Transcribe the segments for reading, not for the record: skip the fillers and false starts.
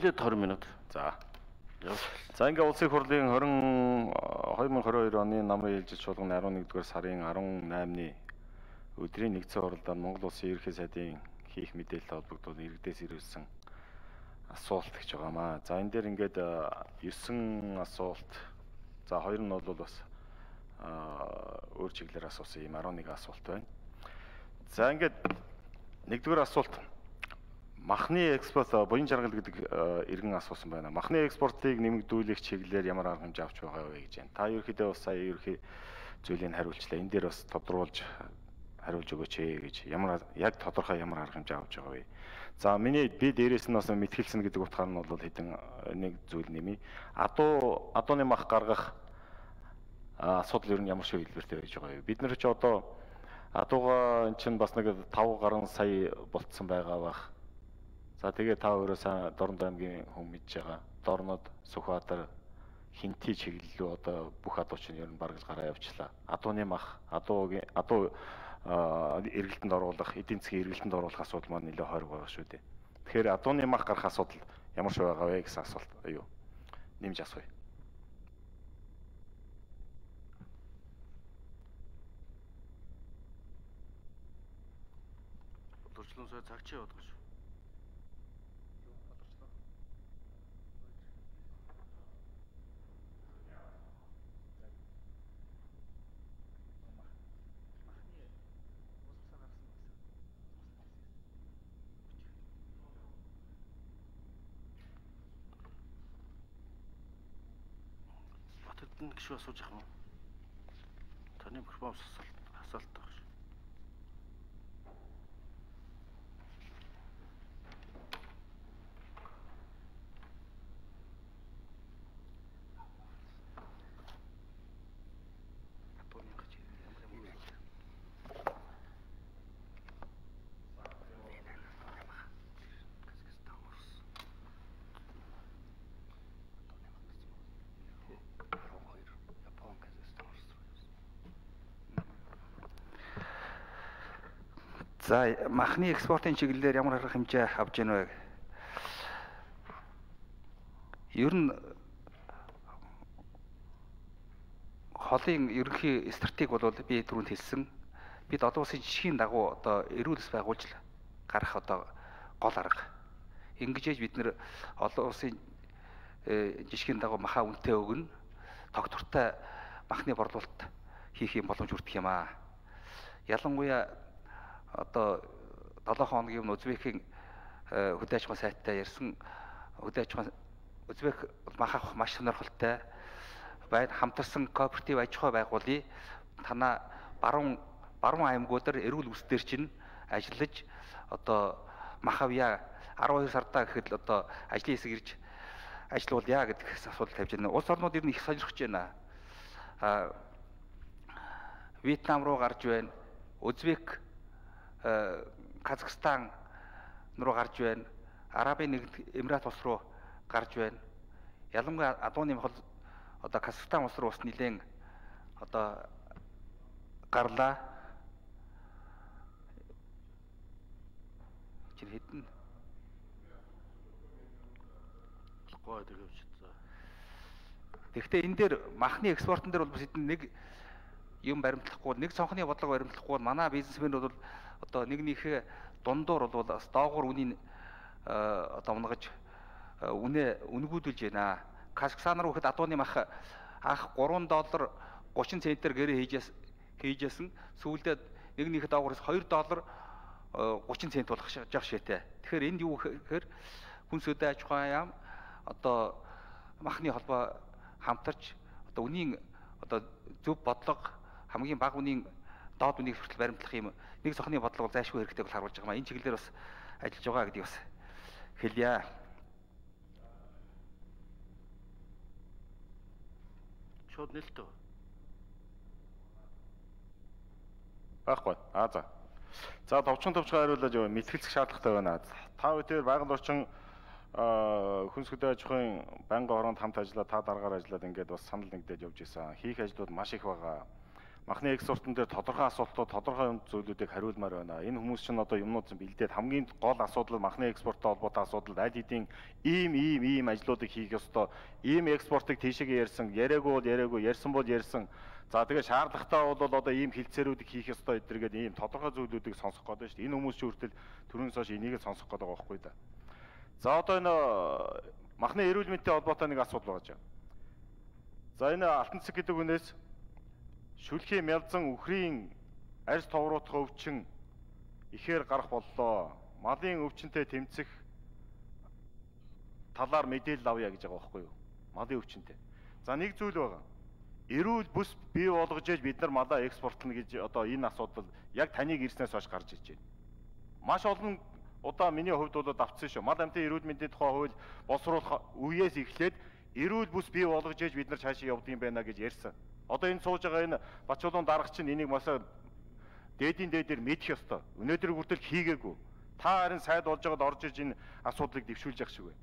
Нийлээд 20 минут. За. За ингээ улсын хурлын 2022 оны намрын ээлжид чуулганы 11-р сарын 18-ны өдрийн нэгдсэн хурлаар Монгол Улсын ерөнхий сайдын хийх мэдээлэлтэй холбогдуулан иргэдээс ирүүлсэн асуулт гэж байгаамаа. За энэ дээр ингээд 9 асуулт. За 2 нь бол бас өөр чиглэлээр асуусан юм 11 асуулт байна. За ингээд нэгдүгээр асуулт махны экспорт буян жаргал гэдэг иргэн асуусан байна. Махны экспортыг нэмэгдүүлэх чиглэлээр ямар арга хэмжээ авч байгаа вэ гэж байна. Та ерөөхдөө бас сая ерөөхдөө зүйлийг хариулчлаа. Энэ дээр бас тодруулж хариулж өгөөч гэж яг тодорхой ямар арга хэмжээ авч байгаа вэ? За би дээрээс нь бас мэтгэлсэн гэдэг утгаар нь бол хэдэн нэг зүйл нэмий. Адууны мах гаргах асуудал ер нь ямар шиг хэлбэртэй байж байгаа вэ? Бид нар ч одоо адууга эн чинь бас нэг 5 гаруй сая болцсон байгаа бах. За тэгээ та өөрөө сайн Дорнод аймгийн хүн мэдж байгаа. Дорнод, Сүхбаатар, Хинти чиглэлөө одоо бүх адууч нь ер нь бараг гараа явчлаа. Адууны мах, адуу эргэлтэнд оруулах, эдийн засгийн эргэлтэнд оруулах асуудал маань нэлээд хориг байгаа шүү дээ. Тэгэхээр адууны мах гарах асуудал ямар шиг байгаа вэ гэсэн асуулт нэмж асууя. Бодлогочлон сая цаг чи яваад байгаа шүү. Гişүү асууж ах юм. Таны микрофон асуулт байгаа шүү. За махны экспортын чиглэлээр ямар арга хэмжээ авч ийн вэ? Ер нь холын ерөнхий стратеги бол би түрүүнд хэлсэн. Бид олон улсын жишгийн дагуу одоо эрүүл мэс байгуулж гарах одоо гол арга. Ингэж бид нэр олон улсын жишгийн дагуу махаа үнэтэй өгнө. Тогтвортой махны борлуулалт хийх юм боломж хүрдэх юм аа. Ялангуяа одоо 7 хоногийн Узбекийн хөдөө аж ахуйн сайттай ярьсан хөдөө аж ахуйн Узбек мах авах маш сонирхолтой байна. Хамтарсан кооператив аж ахуй байгуулъя. Танаа баруун аймагуудаар эрүүл үсдэр чинь ажиллаж одоо мах авъя 12 сардаа гэхэд одоо ажлын хэсэг ирж ажиллаулъя гэдэг асуудал тавьж байна. Улс орнууд ер нь их сонирхож байна. Вьетнам руу гарч байна. Узбек Казахстан руу гарч байна. Арабын нэгдсэн Эмират улс руу гарч байна. Ялангуяа адууны мах одоо Казахстан улс руу бас нэлээд одоо гарлаа. Чин хэдэн гоо тэгвч за. Тэгэхдээ энэ дээр махны экспортын дээр бол бас хэдэн нэг юм баримтлахгүй нэг цонхны бодлого баримтлахгүй манай бизнесмэнүүд бол одоо нэгнийхээ дундуур бол бас доогуур үнийг одоо унгаж үнгүүдүүлж байна. Казахстан руу хэд адууны мах анх $3 30 центээр гэрээ хийжсэн сүүлдээ нэгнийхээ доогуураас $2 30 цент болох жах шиэтэй. Тэгэхээр энд юу гэхээр хүнс хөдөө аж ахуйн яам одоо махны холбоо хамтарч одоо үнийн одоо зөв бодлого хамгийн бага үнийн доод үнийг хүртэл баримтлах юм нэг цохны бодлого зайлшгүй хэрэгтэй бол харуулж байгаа маа. Энэ чиглэлээр бас ажиллаж байгаа гэдгийг бас хэлье. Шууд нэлтөө. Баггүй. За. За товчхон хариулаад яваа мэтгэлцэх шаардлагатай байна. Та бүхэн байгаль орчин хүнс хөдөө аж ахуйн байнгын оронд хамт ажиллаад та дараагаар ажиллаад ингээд бас санал нэгдээд явж исэн. Хийх ажлууд маш их байгаа. махны экспортын дээр тодорхой асуултууд, тодорхой зүйлүүдийг хариулмаар байна. Энэ хүмүүс чинь одоо юмнууд чинь бэлдээд хамгийн гол асуудал махны экспорттой холбоотой асуудал аль хэдийн ийм ажлуудыг хийх ёстой. Ийм экспортыг тийшээгээ ярьсан, яриаггүй, ярьсан бол ярьсан. За тэгээ шаардлагатай бол одоо ийм хилцээрүүдийг хийх ёстой эдэргээд ийм тодорхой зүйлүүдийг сонсох гэдэг шүү дээ. Энэ хүмүүс чинь хүртэл түрүүнээс хойш энийг л сонсох гэдэг байгаа байхгүй да. За одоо энэ махны эрүүл мэндийн холбоотой нэг асуудал байгаа. За энэ алтан цэг гэдэг хүнээс шүлхийн мялзан үхрийн арьс товруулах өвчин ихээр гарах боллоо. Малын өвчнөд тэмцэх талаар мэдээлэл авъя гэж байгаа байхгүй юу? Малын өвчнөд. За нэг зүйл байгаа. Эрүүл бүс бий болгож ээж бид нар малаа экспортлно гэж одоо энэ асуудал яг таныг ирснээс хойш гарч иж байна. Маш олон удаа миний хувьд бол давтсан шүү. Мал амьтан эрүүл мэндийн тухай хууль боловсруулах үеэс эхлээд эрүүл бүс бий болгож ээж бид нар цаашаа явдаг юм байна гэж ярьсан. Одоо энэ сууж байгаа энэ Бачуулан дарга чинь энийг маш дээдээр мэдэх ёстой. Өнөөдөр хүртэл хийгээгүй. Та харин сайд болж байгаад орж иж энэ асуудлыг дэвшүүлж явах шиг байна.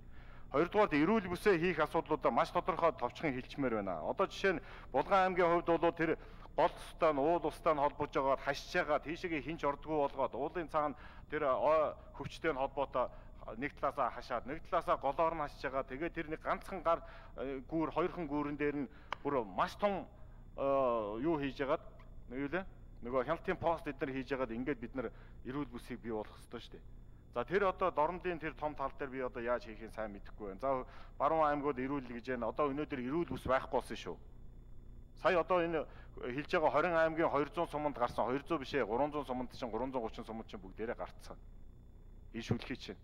Хоёрдугаард эрүүл бүсээ хийх асуудлуудаа маш тодорхой товчхон хэлчмээр байна. Одоо жишээ нь Булган аймгийн хувьд бол тэр гол тустай нь уул устай нь холбож байгаад хашиж байгаа тийшээгээ хинч ордгоо болгоод уулын цаана тэр хөвчтэй нь холбоотой нэг талаасаа хашаад нэг талаасаа голоор нь хашиж байгаа. Тэгээ тэр нэг ганцхан гар гүүр хоёрхан гүүрэн дээр нь бүр маш том юу хийж яагаад юу лээ нөгөө хяналтын пост эдгээр хийж яагаад ингээд бид нар эрүүл бүсийг бий болгох ёстой шүү дээ. За тэр одоо дорнодын тэр том тал дээр би одоо яаж хийхин сайн мэдэхгүй байна. За баруун аймагуд эрүүл гэж байна. Одоо өнөөдөр эрүүл бүс байхгүй болсон шүү. Сая одоо энэ хэлж байгаа 20 аймгийн 200 суманд гарсан 200 биш ээ 300 суманд чинь 330 суманд чинь бүгдээрээ гарцсан. Энэ шүлхий чинь.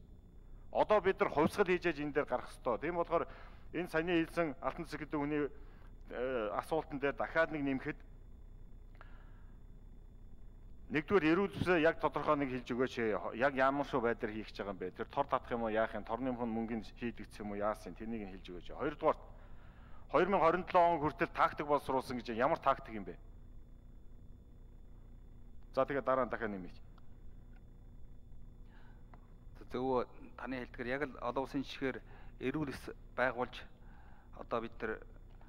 Одоо бид нар хувьсгал хийж энэ дээр гарах ёстой. Тийм болохоор энэ саяны хэлсэн алтан цэг гэдэг хүний асуултан дээр дахиад нэг нэмэхэд нэгдүгээр эрүүл бүсээ яг тодорхой нэг хэлж өгөөч. Яг ямар шүү байдлаар хийх гэж байгаа юм бэ? Тэр тор татах юм уу, яах юм? Торны мөнгөнд шийдэгдэх юм уу, яасан? Тэрнийг нь хэлж өгөөч. Хоёрдугаар 2027 он хүртэл тактик боловсруулсан гэж ямар тактик юм бэ? За тэгээ дараа нь дахиад нэмээч. Зөв таны хэлдгээр яг л олон улсын жишгээр эрүүл бүс байгуулж одоо бид нар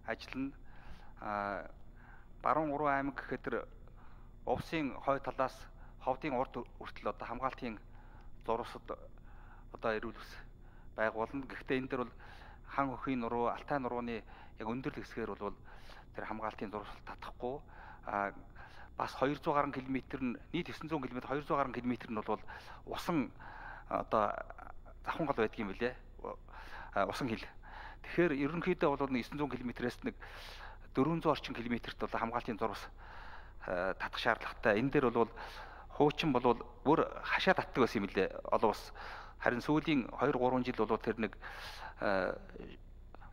ажиллана. Баруун 3 аймаг гэхэд тэр Увсын хой талаас ховдын урд хүртэл одоо хамгаалтын зурвасад одоо эрүүл бүс байгуулна. Гэхдээ энэ дээр бол хан хөхийн нуруу, алтай нурууны яг өндөрлөг хэсгээр бол тэр хамгаалтын зурвас татахгүй. Бас 200 гаруй километр нь нийт 900 км 200 гаруй км нь бол усан одоо завхан гал байдаг юм билээ. Усан хил. Тэгэхээр ерөнхийдөө бол 900 км-ээс нэг 400 орчим километрт бол хамгаалтын зурвас татах шаардлагатай. Энэ дээр бол хуучин бол бүр хашаа татдаг байсан юм лээ. Олон ус. Харин сүүлийн 2-3 жил бол тэр нэг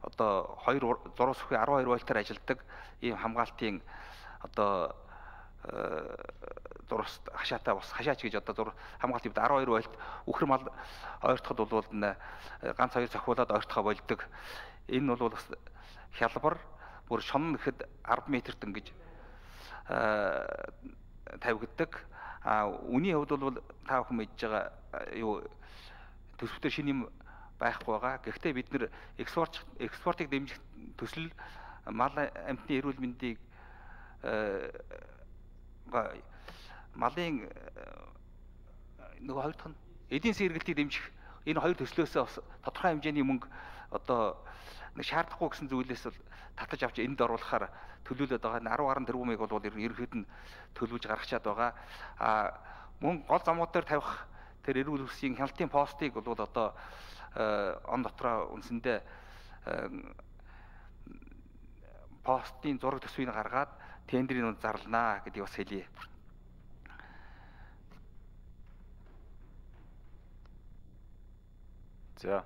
одоо 2 зурвас бүхий 12 вольтаар ажилладаг ийм хамгаалтын одоо зурвас хашаатай бас хашаач гэж одоо хамгаалтын 12 вольт үхэр мал ойртоход бол ганц хоёр цохиулаад ойртохоо болдог. Энэ бол бас хялбар бүр шонно гэхэд 10 метрт ингэж тавигддаг. Үний хувьд бол та бүхэн мэдж байгаа юу төсөвтөр шинэ юм байхгүй байгаа. Гэхдээ бид нэр экспортыг дэмжих төсөл мал амьтны эрүүл мэндийг малын нөгөө хоёр дахь нь эдийн засгийн эргэлтийг дэмжих энэ хоёр төслөөсөө бас тодорхой хэмжээний мөнгө одоо нэг шаардахгүй гэсэн зүйлээс бол татаж авч энд оруулахаар төлөвлөд байгаа. 10 гаруй тэрбумыг бол ерөнхийд нь төлөвлөж гаргачаад байгаа. Мөн гол замууд дээр тавих тэр эрүүл бүсийн хяналтын постыг бол одоо он дотроо үндсэндээ постын зураг төсвийг гаргаад тендерийн үнд зарланаа гэдгийг бас хэлье. За.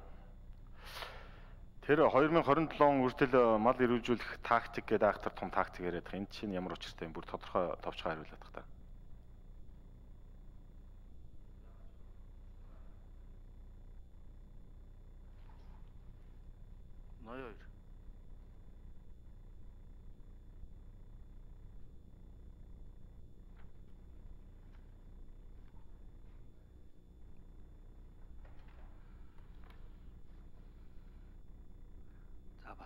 Тэр 2027 он хүртэл мал эрүүлжүүлэх тактик гэдэг айхтар том тактик яриад байгаа. Энд чинь ямар учиртай юм? Бүр тодорхой товчхон хариулаад байгаа та. Ноёр.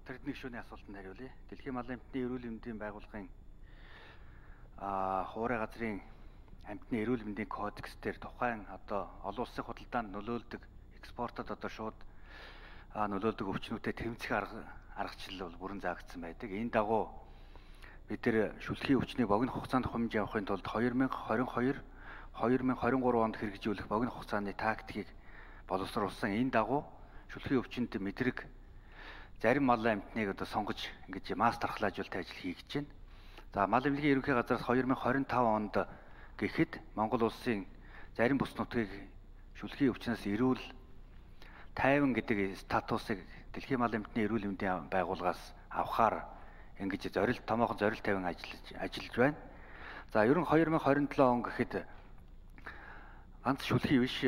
Батэрдний гишүүний асуултанд хариулъя. Дэлхийн малын эмтний эрүүл мэндийн байгууллагын хуурай газрын амьтны эрүүл мэндийн кодекс дээр тухайн одоо олон улсын худалдаанд нөлөөлдөг экспортод одоо шууд нөлөөлдөг өвчнүүдэд тэмцэх аргачлал бол бүрэн заагдсан байдаг. Энэ дагуу бид нэр шүлхийн өвчнийг богино хугацаанд хумж явахын тулд 2022-2023 онд хэрэгжүүлэх богино хугацааны тактикийг боловсруулсан. Энэ дагуу шүлхийн өвчнөд мэдрэг зарим малын амьтныг одоо сонгож ингэж масс дархлаажуулалт ажил хийгдэж байна. За мал эмнэлгийн ерөнхий газраас 2025 онд гэхэд Монгол улсын зарим бүс нутгийг шүлхийн өвчнөөс эрүүл тайван гэдэг статусыг Дэлхийн мал эмнэлгийн эрүүл мэндийн байгууллагаас авахаар ингэж томоохон зорилт тавин ажиллаж байна. За ер нь 2027 он гэхэд ганц шүлхий биш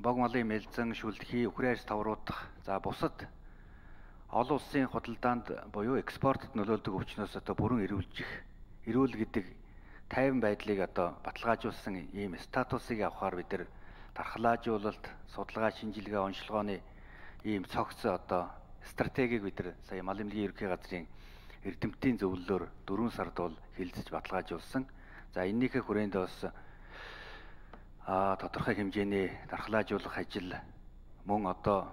бог малын мэлзэн, шүлхий, үхрийн арьс тавруудах за бусад олон улсын худалдаанд буюу экспортод нөлөөлдөг өвчнөөс одоо бүрэн эрүүл гэдэг тайван байдлыг одоо баталгаажуулсан ийм статусыг авахаар бид нар дархлаажуулалт, судалгаа, шинжилгээ, онцлогооны ийм цогц одоо стратегийг бид нар сая мал эмнэлгийн ерөнхий газрын эрдэмтдийн зөвлөлөөр 4 сард бол хэлэлцэж баталгаажуулсан. За энэнийхээ хүрээнд бас тодорхой хэмжээний дархлаажуулах ажил мөн одоо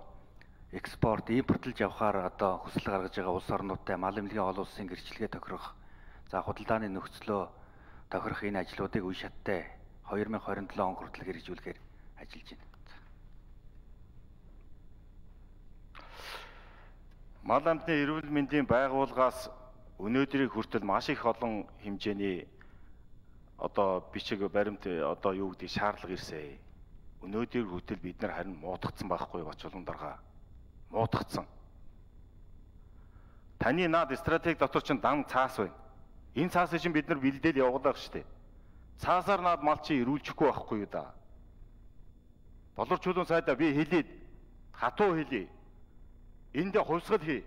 экспорт, импортлж явахаар одоо хүсэл гаргаж байгаа улс орнуудтай мал эмнэлгийн олон улсын гэрчлэгээ тохирох, за худалдааны нөхцлөө тохирох энэ ажлуудыг үе шаттай 2027 он хүртэл хэрэгжүүлэхээр ажиллаж байна. Мал амьтны эрүүл мэндийн байгууллагаас өнөөдрийг хүртэл маш их олон хэмжээний одоо бичиг баримт одоо юу гэдэг шаардлага ирсэн. Өнөөдрийг хүртэл бид нар харин муутгацсан байхгүй бач улам дарга. Муутгацсан. Таны наад стратеги дотор чинь дан цаас байна. Энэ цаасыг чинь бид нар бэлдээл явуулах штеп. Цаасаар наад мал чи ирүүлчихгүй байхгүй юу да. Болор чулуун сайдаа би хэлээд хатуу хэлье. Энд хувьсгал хий.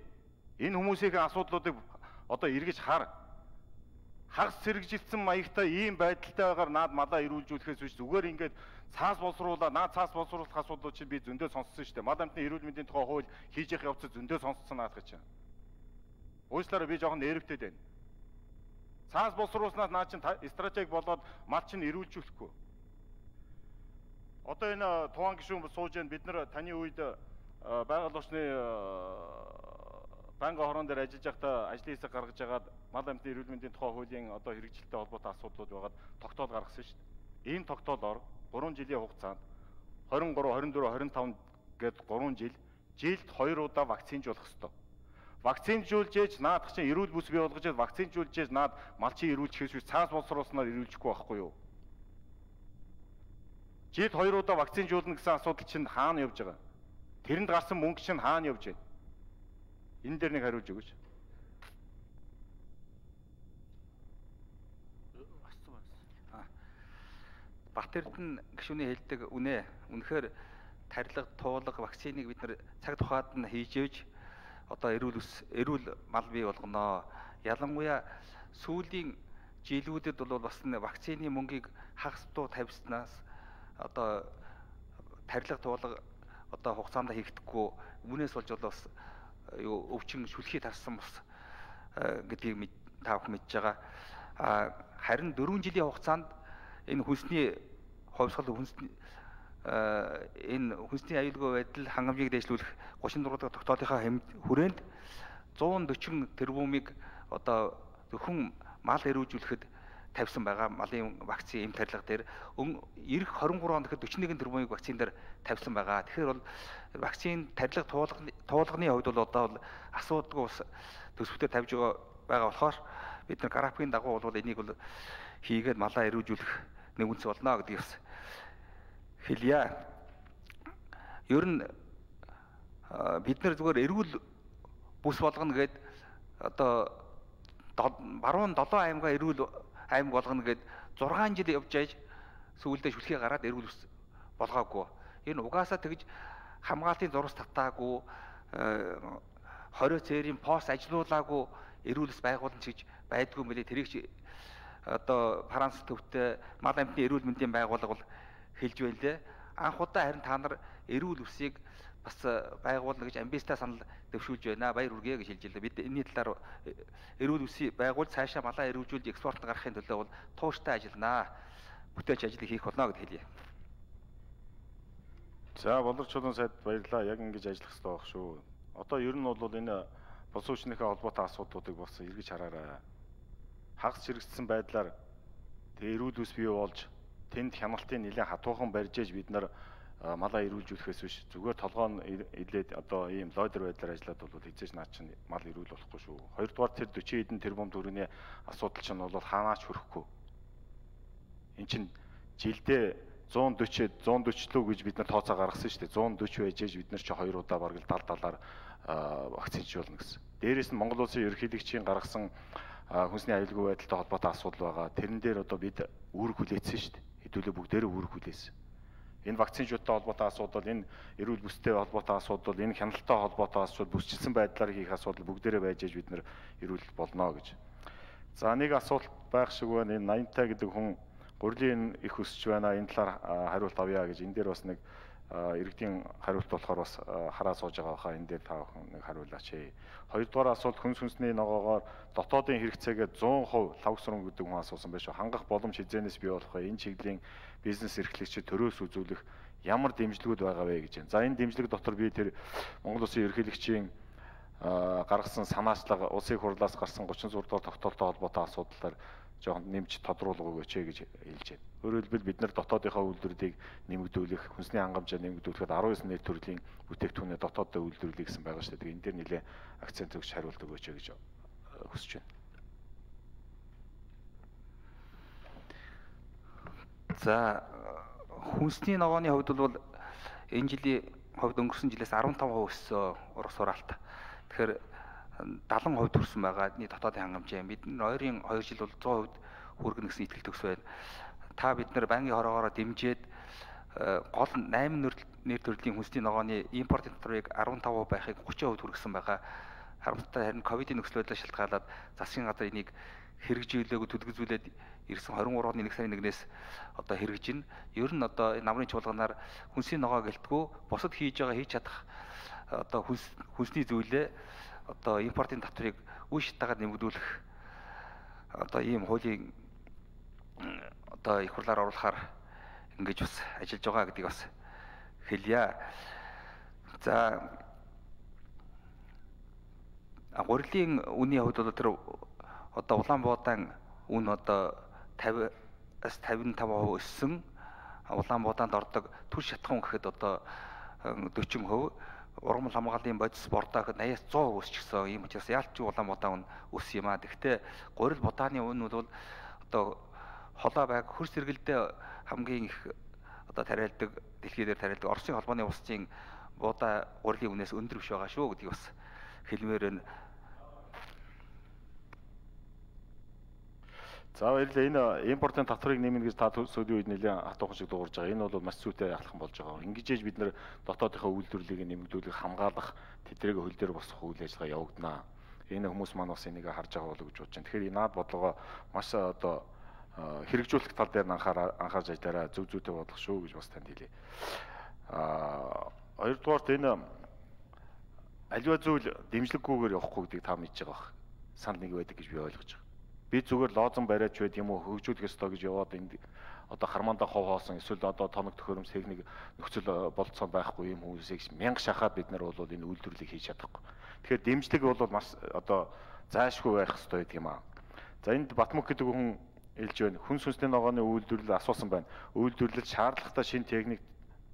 Энэ хүмүүсийн асуудлуудыг одоо эргэж хар. Хагас сэргижилсэн маягтай ийм байдалтай байгаар наад малаа ирүүлжүүлэхээс биш зүгээр ингээд цаас боловсруулаад наад цаас боловсруулах асуудлууд чинь би зөндөө сонссон шүү дээ. Мал амьтны эрүүл мэндийн тухай хууль хийж явах явцад зөндөө сонссон наадах чинь. Уучлаарай би жоохон нервтэй байна. Цаас боловсруулснаас наад чинь стратеги болоод мал чинь ирүүлжүүлэхгүй. Одоо энэ Тухайн гишүүн сууж байна. Бид нар таны үед байгаль орчны банкны хорон дээр ажиллаж байхдаа ажлын хэсэг гаргаж агаад мал амьтны эрүүл мэндийн тухай хуулийн одоо хэрэгжилттэй холбоотой асуудлууд байгаад тогтоол гаргасан шүү дээ. Энэ тогтоолоор 3 жилийн хугацаанд 23, 24, 25 гээд 3 жилд 2 удаа вакцинжуулах ёстой. Вакцинжуулж ээж наадах чинь эрүүл бүс бий болгож вакцинжуулж ээж наад мал чинь ирүүлчихээс цаас боловсруулснаар ирүүлчихгүй байхгүй юу? Жилд 2 удаа вакцинжуулна гэсэн асуудал чинь хаана явж байгаа? Тэрэнд гарсан мөнгө чинь хаана явж байна? Энэ дээр нэг хариулж өгөөч. Бат Эрдэнэ гишүүний хэлдэг үнэ. Үнэхээр тарилга, туулга, вакциныг бид нар цаг тухайд нь хийж ээж одоо эрүүл мал бий болгоно. Ялангуяа сүүлийн жилүүдэд бол бас вакцины мөнгийг хагас дуу тавьснаас одоо тарилга, туулга одоо хугацаанд хийгдэхгүй үүнээс болж бол бас өвчин шүлхий тарсан бас гэдгийг та бүхэн мэдж байгаа. Харин 4 жилийн хугацаанд энэ хүнсний хувьсгал энэ хүнсний аюулгүй байдал хангамжийг дэвшлүүлэх 36 дахь тогтоолынхаа хүрээнд 140 тэрбумыг одоо зөвхөн мал эрүүжүүлэхэд тавьсан байгаа. Малын вакцины эм тарилга дээр эх 23 онд гэхэд 41 тэрбумыг вакцин дээр тавьсан байгаа. Тэгэхээр бол вакцины тарилга туулганы хувьд бол одоо бол асуудалгүй ус төсөвтөд тавьж байгаа болохоор бид нар графикийн дагуу бол энийг бол хийгээд малаа эрүүжүүлэх нэг үнс болно гэдгийг бас хэлье. Ер нь бид нар зүгээр эрүүл бүс болгоно гэд одоо баруун 7 аймгаа эрүүл аймаг болгоно гэд 6 жил явж байж сүүлдээ шүлхий гараад эрүүл бүс болгоогүй. Энэ угаасаа тэгж хамгаалтын зурус татаагүй, хорио цээрийн пост ажилуулаагүй эрүүл бүс байгуулна гэж байдгүй мөлий. Тэрийг чи одоо Франц төвтэй мал амьтны эрүүл мэндийн байгууллага бол хэлж байна лээ. Анх удаа харин та нар эрүүл бүсийг бас байгуулна гэж амбицтай санал дэвшүүлж байна. Баяр хүргэе гэж хэлж байлаа. Бид энэний талаар эрүүл үсий байгуул цаашаа малаа эрүүжүүлж экспортод гаргахын төлөө бол тууштай ажилланаа. Бүтээч ажлыг хийх болно гэд хэлье. За боловч чулуун сайд баярлалаа. Яг ингэж ажиллах хэрэгтэй байх шүү. Одоо ер нь бол энэ бус хүчнийхээ холбоотой асуудлуудыг бас эргэж хараарай. Хагас чирэгдсэн байдлаар тэгээ эрүүл үс бий болж тэнд хяналтын нэлээд хатуухан барьж ээж бид нар малаа эрүүлжүүлэхээс биш зүгээр толгоо илээд одоо ийм лойдер байдлаар ажиллаад бол хизээж наад чинь мал эрүүл болохгүй шүү. Хоёрдугаар тэр 40 хэдэн тэрбум төгрөгийн асуудал чинь бол хаанаач хүрэхгүй. Эн чинь жилдээ 140 140 лөө гэж бид нар тооцоо гаргасан шүү дээ. 140 байж ээж бид нар чи 2 удаа бараг л 70-70-аар вакцинжуулна гэсэн. Дээрээс нь Монгол улсын ерөнхийлөгчийн гаргасан хүнсний аюулгүй байдалтай холбоотой асуудал байгаа. Тэрэн дээр одоо бид үүрэг хүлээсэн шүү дээ. Хэдүүлээ бүгдээрээ үүрэг хүлээсэн. Энэ вакцинжуудтай холбоотой асуудал, энэ эрүүл бүстэй холбоотой асуудал, энэ хяналттай холбоотой асуудал, бүсчилсэн байдлаар хийх асуудал бүгдээрээ байж ээж бид нар эрүүл болно гэж. За нэг асуулт байх шиг байна. Энэ 80-тай гэдэг хүн гурлийн их өсч байна. Энэ талаар хариулт авъя гэж. Энэ дээр бас нэг иргэдийн хариулт болохоор бас хараа сууж байгаа хаа. Энэ дээр та бүхэн нэг хариулаач. Хоёрдугаар асуулт хүнс хүнсний ногоогоор дотоодын хэрэгцээгээ 100% лав сурам гэдэг хүн асуусан байж шүү. Хангах боломж хязгаарнаас бий болох вэ? Энэ чиглэлийн бизнес эрхлэгчид төрөөс үзүүлэх ямар дэмжлэгүүд байгаа вэ гэж байна. За энэ дэмжлэг дотор би тэр Монгол Улсын ерөнхийлөгчийн гаргасан санаачлага улсын хурлаас гарсан 36 дугаар тогтоолтой холбоотой асуудлаар жоохон нэмж тодруулах өгөөч гэж хэлж байна. Өөрөөр хэлбэл бид нар дотоодынхаа үйлдвэрлэлийг нэмэгдүүлэх, хүнсний хангамжаа нэмэгдүүлэхэд 19 нийт төрлийн бүтээгдэхүүнээ дотооддоо үйлдвэрлэе гэсэн байгаа шүү дээ. Тэгээ энэ дээр нэлээд акцент өгч хариулт өгөөч гэж хүсэж байна. За хүнсний ногооны хувьд бол энэ жилийн хувьд өнгөрсөн жилээс 15% өссөн урах сураалт. Тэгэхээр 70% төрсөн байгаа нийт дотоодын хангамжаа. Бидний ойрын 2 жил бол 100% хүргэнэ гэсэн итгэлтэй төс байна. Та бид нар банкны хороогоороо дэмжиж гол 8 нэр төрлийн хүнсний ногооны импортын татварыг 15% байхыг 30% хүргэсэн байгаа. Харамсалтай харин ковидын нөхцөл байдлаас шалтгаалаад засгийн газар энийг хэрэгжүүлээгүй төлөвлөжүүлээд ирсэн 23-ны 1 сарын 1-ээс одоо хэрэгжинэ. Ер нь одоо намрын чуулганаар хүнсний ногоо гэлтгүү бусад хийж чадах одоо хүнсний зүйлээ одоо импортын татварыг үе шатаагаар нэмэгдүүлэх одоо ийм хуулийн одоо их хурлаар оруулахаар ингэж бас ажиллаж байгаа гэдгийг бас хэлье. За гурилын үнийн хувьд бол тэр одоо Улаанбуудаан үн одоо 50-аас 55% өссөн. Улаанбуудаанд ордог түр шатхан гэхэд одоо 40%, ургамал хамгааллын бодис бордоо гэхэд 80-аас 100% өсчихсөн. Ийм учраас яалтч Улаанбуудаан үн өссөн юм аа. Гэхдээ гурил будааны үн бол одоо холоо байг хөрс сэргэлдээ хамгийн их одоо тариалдаг, дэлхий дээр тариалдаг Оросын холбооны улсын буудаа гурилын үнээс өндөр биш байгаа шүү гэдгийг бас хэлмээр байна. За баярлалаа. Энэ импортын татварыг нэмнэ гэж та сүүлийн үед нэлээд хатуухан шиг дуурж байгаа. Энэ бол маш зүйтэй ахлах болж байгаа. Ингэж бид нар дотоодынхаа үйлдвэрлэлийг нэмэгдүүлэх, хамгаалах, тэднийг хөл дээр босгох үйл ажиллагаа явагдана. Энэ хүмүүс маань бас энийг харж байгаа болов гэж бодож байна. Тэгэхээр наад бодлогоо маш одоо хэрэгжүүлэх тал дээр анхаарч ажиллаарай. Зөв зүйтэй бодлого шүү гэж бас танд хэлье. Хоёрдугаарт энэ аливаа зүйл дэмжлэггүйгээр явахгүй гэдгийг та мэдж байгаа бах. Санал нэг байдаг гэж би ойлгож байгаа. Би зүгээр лоозон бариач байд юм уу хөгжүүлэх ёстой гэж яваад энд одоо хармаандаа хов хоосон эсвэл одоо тоног төхөөрөмс техник нөхцөл болцсон байхгүй юм хүмүүсийг мянга шахаад бид нар бол энэ үйлдвэрлэлийг хийж чадахгүй. Тэгэхээр дэмжлэг бол маш одоо зайлшгүй байх ёстой гэдэг юм аа. За энд Батмүх гэдэг хүн хэлж байна. Хүнс хүнсний ногооны үйлдвэрлэл асуусан байна. Үйлдвэрлэл шаардлагатай шинэ техник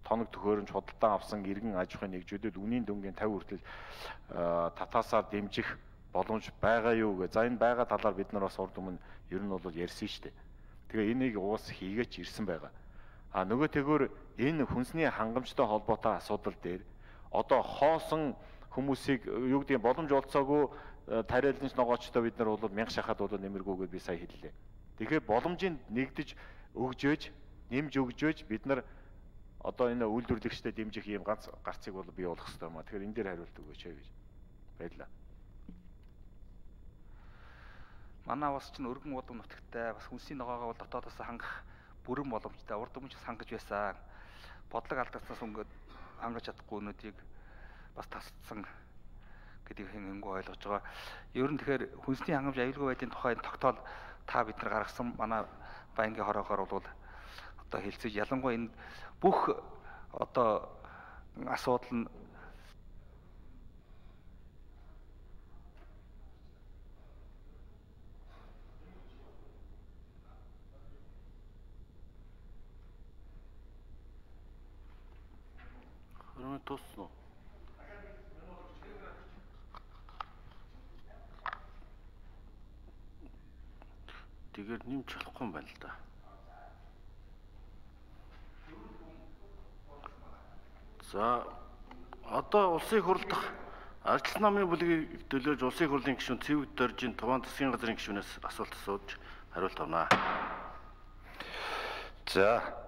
тоног төхөөрөмж худалдан авсан иргэн аж ахуйн нэгжүүдэд үнийн дүнгийн 50 хүртэл татаасаар дэмжих боломж байгаа юу гэ. За энэ байгаа талаар бид нар бас урд өмнө ер нь бол ярьсан шүү дээ. Тэгээ энийг уус хийгээч ирсэн байгаа. А нөгөө тэгвэр энэ хүнсний хангамжтай холбоотой асуудал дээр одоо хоосон хүмүүсийг юу гэдэг боломж олцоогүй тариаланч ногоочтой бид нар бол мянга шахаад бол нэмэргүйгээд би сая хэллээ. Тэгэхээр боломжийг нэгдэж өгжөөж, нэмж өгжөөж бид нар одоо энэ үйлдвэрлэгчдэд дэмжих ийм ганц гарцыг бол бий болох хэрэгтэй юм а. Тэгэхээр энэ дээр хариулт өгөөч гэж баярлалаа. Манай бас ч өргөн удам нутагтай бас хүнсний ногоогоо бол дотоодоос хангах бүрэн боломжтой. Урд өмнө ч хангаж байсан. Бодлого алдагдсанаас өнгөд хангаж чадахгүй өнөөдрийг бас тасцсан гэдгийг хэнгүү ойлгож байгаа. Ер нь тэгэхээр хүнсний хангамж аюулгүй байдлын тухай тогтоол та бид нар гаргасан манай байнгын хороогоор бол одоо хэлцэж ялангуяа энэ бүх одоо асуудал нь тусна. Тэгээр нэмж болохгүй юм байна л да. За одоо улсын их хурлдах арчилсан намын бүлгийг төлөөж улсын их хурлын гишүүн Цэвэг Доржийн Туван засгийн газрын гишүүнээс асуулт асууж хариулт авнаа. За